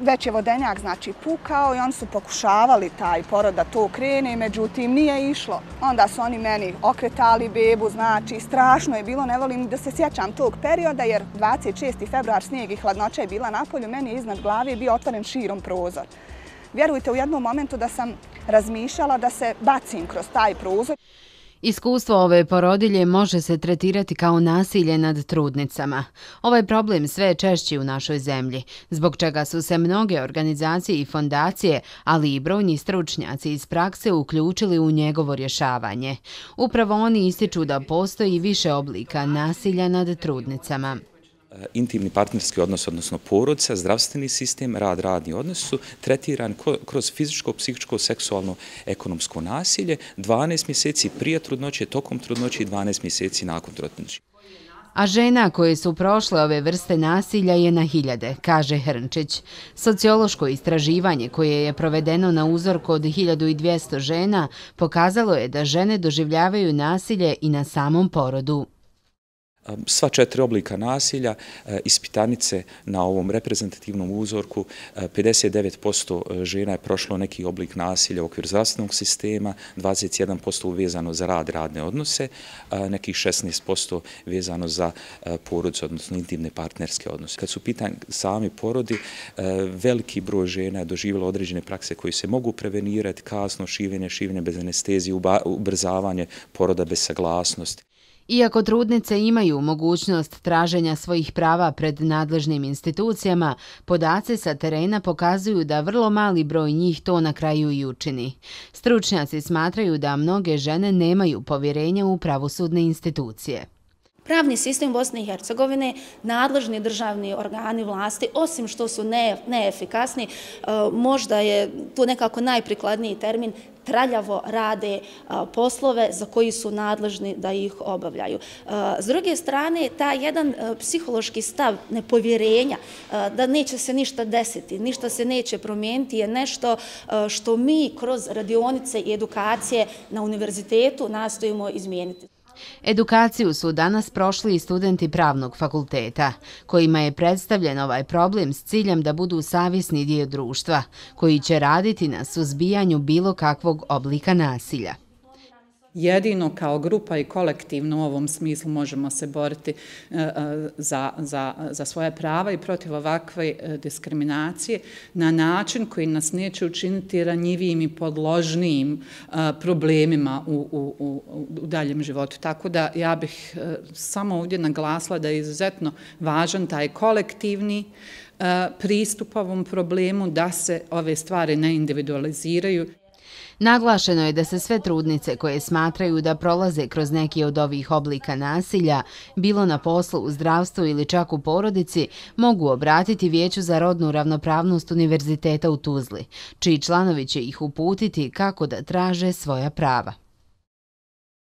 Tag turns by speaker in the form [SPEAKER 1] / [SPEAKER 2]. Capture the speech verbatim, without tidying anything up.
[SPEAKER 1] već je vodenjak znači pukao i oni su pokušavali taj porod da to krene, međutim nije išlo. Onda su oni meni okretali bebu, znači strašno je bilo, ne volim da se sjećam tog perioda jer dvadeset šesti februar snijeg i hladnoća je bila napolju, meni je iznad glave bio otvoren širom prozor. Vjerujte u jednom momentu da sam razmišljala da se bacim kroz taj prozor.
[SPEAKER 2] Iskustvo ove porodilje može se tretirati kao nasilje nad trudnicama. Ovaj problem sve je češći u našoj zemlji, zbog čega su se mnoge organizacije i fondacije, ali i brojni stručnjaci iz prakse uključili u njegovo rješavanje. Upravo oni ističu da postoji više oblika nasilja nad trudnicama.
[SPEAKER 3] Intimni partnerski odnos, odnosno porodica, zdravstveni sistem, rad, radni odnos su tretirani kroz fizičko, psihičko, seksualno, ekonomsko nasilje dvanaest mjeseci prije trudnoće, tokom trudnoće i dvanaest mjeseci nakon trudnoće.
[SPEAKER 2] A žena koje su prošle ove vrste nasilja je na hiljade, kaže Hrnčić. Sociološko istraživanje koje je provedeno na uzorku od hiljadu dvjesto žena pokazalo je da žene doživljavaju nasilje i na samom porodu.
[SPEAKER 3] Sva četiri oblika nasilja, ispitanice na ovom reprezentativnom uzorku, pedeset devet posto žena je prošlo neki oblik nasilja u okviru zdravstvenog sistema, dvadeset jedan posto vezano za rad, radne odnose, nekih šesnaest posto vezano za porodicu, odnosno intimne partnerske odnose. Kad su pitanje sami porodi, veliki broj žena je doživjelo određene prakse koje se mogu prevenirati, kasno šivenje, šivenje bez anestezije, ubrzavanje poroda bez saglasnosti.
[SPEAKER 2] Iako trudnice imaju mogućnost traženja svojih prava pred nadležnim institucijama, podaci sa terena pokazuju da vrlo mali broj njih to na kraju i učini. Stručnjaci smatraju da mnoge žene nemaju povjerenja u pravosudne institucije.
[SPEAKER 4] Pravni sistem Bosne i Hercegovine, nadležni državni organi vlasti, osim što su neefikasni, možda je tu nekako najprikladniji termin, traljavo rade poslove za koji su nadležni da ih obavljaju. S druge strane, taj jedan psihološki stav nepovjerenja da neće se ništa desiti, ništa se neće promijeniti je nešto što mi kroz radionice i edukacije na univerzitetu nastojimo izmijeniti.
[SPEAKER 2] Edukaciju su danas prošli i studenti Pravnog fakulteta, kojima je predstavljen ovaj problem s ciljem da budu savjesni dio društva, koji će raditi na suzbijanju bilo kakvog oblika nasilja.
[SPEAKER 5] Jedino kao grupa i kolektivno u ovom smislu možemo se boriti za, za, za svoje prava i protiv ovakve diskriminacije na način koji nas neće učiniti ranjivijim i podložnijim problemima u, u, u, u daljem životu. Tako da ja bih samo ovdje naglasila da je izuzetno važan taj kolektivni pristup ovom problemu, da se ove stvari ne individualiziraju.
[SPEAKER 2] Naglašeno je da se sve trudnice koje smatraju da prolaze kroz neki od ovih oblika nasilja, bilo na poslu, u zdravstvu ili čak u porodici, mogu obratiti Vijeću za rodnu ravnopravnost Univerziteta u Tuzli, čiji članovi će ih uputiti kako da traže svoja prava.